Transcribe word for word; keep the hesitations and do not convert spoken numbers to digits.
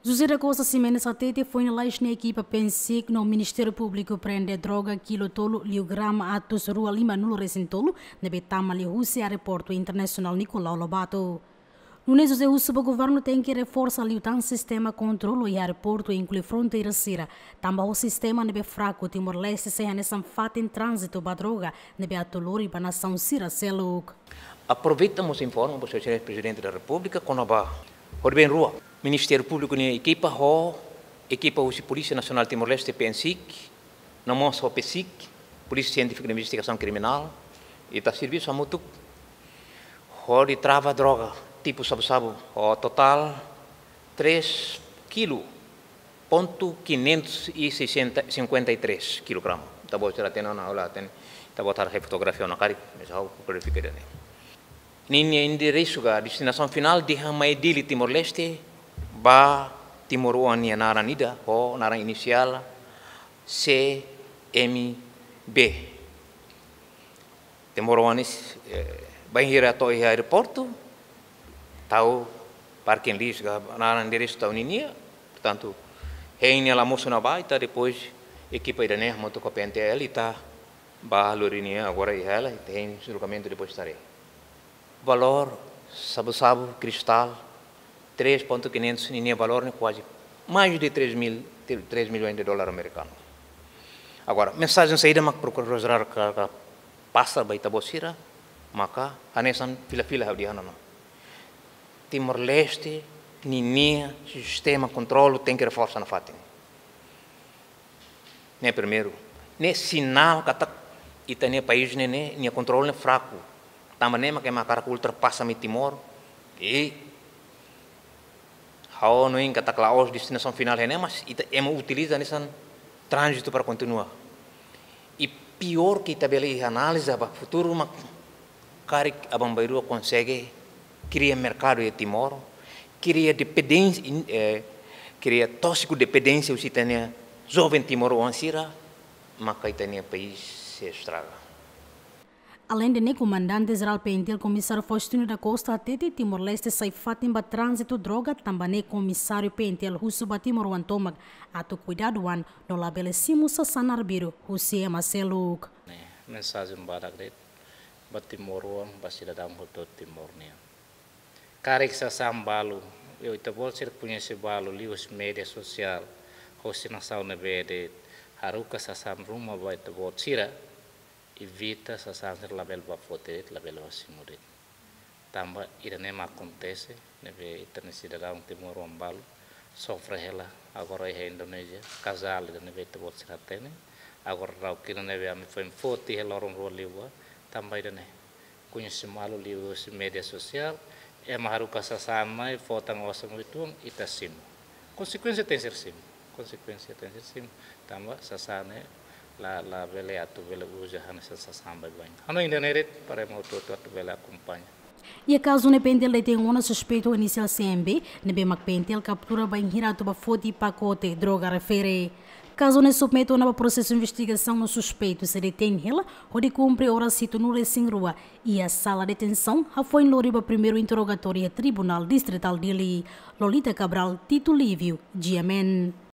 José da Costa Ximenes hatete foin lalais nia ekipa PNCIC no Ministériu Públiku prende droga kilu tolu liu grama atus rua lima nulu resin tolu ne'ebé tama liu husi Aeroportu Internasionál Nicolau Lobato. Nunes José husu ba governu tenke reforsa liután sistema kontrolu iha aeroportu, inklui fronteira sira, tanba ho sistema ne'ebé fraku Timor-Leste sei hanesan fatin tránzitu ba droga ne'ebé atu lori ba nasaun sira seluk. Aproveita mós informa ba Señór Prezidente da Repúblika kona-ba horibainrua Ministériu Públiku nia ekipa ho ekipa husi Polísia Nasionál Timor-Leste, PNCIC, no mós ho PSIC, Polísia Sientífika de Investigasaun Kriminál, ita servisu hamutuk hodi trava droga tipu shabu-shabu ho totál três kilu ponto quinhentos e sessenta, cinquenta e três kilograma. Ita-boot sira hatene ona, ha'u la hatene. Ita-boot haree fotografia ona karik, mas ha'u klarifikadu ne'e. Ninia enderesu ka destinasaun finál dehan mai Dili, Timor-Leste, ba timoroan nia naran ida, ho naran inisiál C M B. Timoroan ne'e, eh, bainhira to'o iha aeroportu, tau parking list ka naran enderesu tau ninia, portantu, hein nia la mosu ona ba, ita depois ekipa ida-ne'e hamutuk ho PNTL ita bá lori nia agora iha hela, ita hein julgamentu depois ita haree. Valór shabu-shabu, kristál, três ponto quinhentos, ninia valór ne'e kuaze mais de três mil, três milhões de dólar amerikanu. Agora, mensajen saida mak Prokuradór Jerál ka, ka pasa ba ita-boot sira, maka hanesan fila-fila ha'u dehan ona. Timor-Leste ninia sistema kontrolu tenke reforsa nafatin. Ne'e primeiru. Ne'e sinál katak ita-nia país ne'e, ne'e, nia kontrolu ne'e fraku. Tanba ne'e mak ema hakarak ultrapasa mai Timor. I ha'u hanoin katak la'ós destinasaun finál iha ne'e, mas ita, ema utiliza hanesan tránzitu para kontinua. I piór ke ita bele iha análize ba futuru mak karik aban-bainrua konsege kria merkadu iha Timor, kria dependénsia, in-, eh, kria tóksiku dependénsia husi ita-nia joven timoroan sira, maka ita-nia país sei estraga. Aleinde ne'e, Komandante Jerál PNTL Komisáriu Faustino da Costa hatete Timor-Leste sai fatin ba tránzitu droga, tanba ne'e Komisáriu PNTL husu ba timoroan tomak atu kuidadu an no labele simu sasán arbiru husi ema seluk. Ne'e mensajen badak de'it ba timoroan, ba sidadaun hotu Timor nian. Karik sasán balu, ita-boot sira koñese balu liuhusi média sosiál, husi nasaun ne'ebé de'it haruka sasán ruma ba ita-boot sira, evita sasán sira labele bá foti de'it, labele bá simu de'it. Tanba ida-ne'e mak akontese, ne'ebé ita-nia sidadaun timoroan balu sofre hela, agora iha Indonézia, kazál ida ne'ebé ita-boot sira hatene, agora daudaun ne'ebé ami foin foti iha loron rua liubá, tanba ida-ne'e. Koñese malu liuhusi média sosiál, ema haruka sasán mai, fó tan osan uitoan, ita simu. Konsekuénsia tenke ser simu. Konsekuénsia tenke ser simu. Tanba sasán ne'e la, labele atu bele uza hanesan sasán baibain. Hanoin ida-ne'e de'it para ema hotu-hotu atu bele akompaña. Iha kazu ne'e PNTL detein ona suspeitu inisiál C M B, ne'ebé mak PNTL kaptura bainhira atu bá foti pakote droga refere. Kazu ne'e submete ona ba prosesu investigasaun no suspeitu sei detein hela hodi kumpre oras hitunulu resin rua iha sala detensaun, hafoin lori ba primeiru interrogatóriu iha Tribunál Distritál Dili. Lolita Cabral, Tito Lívio, GMN.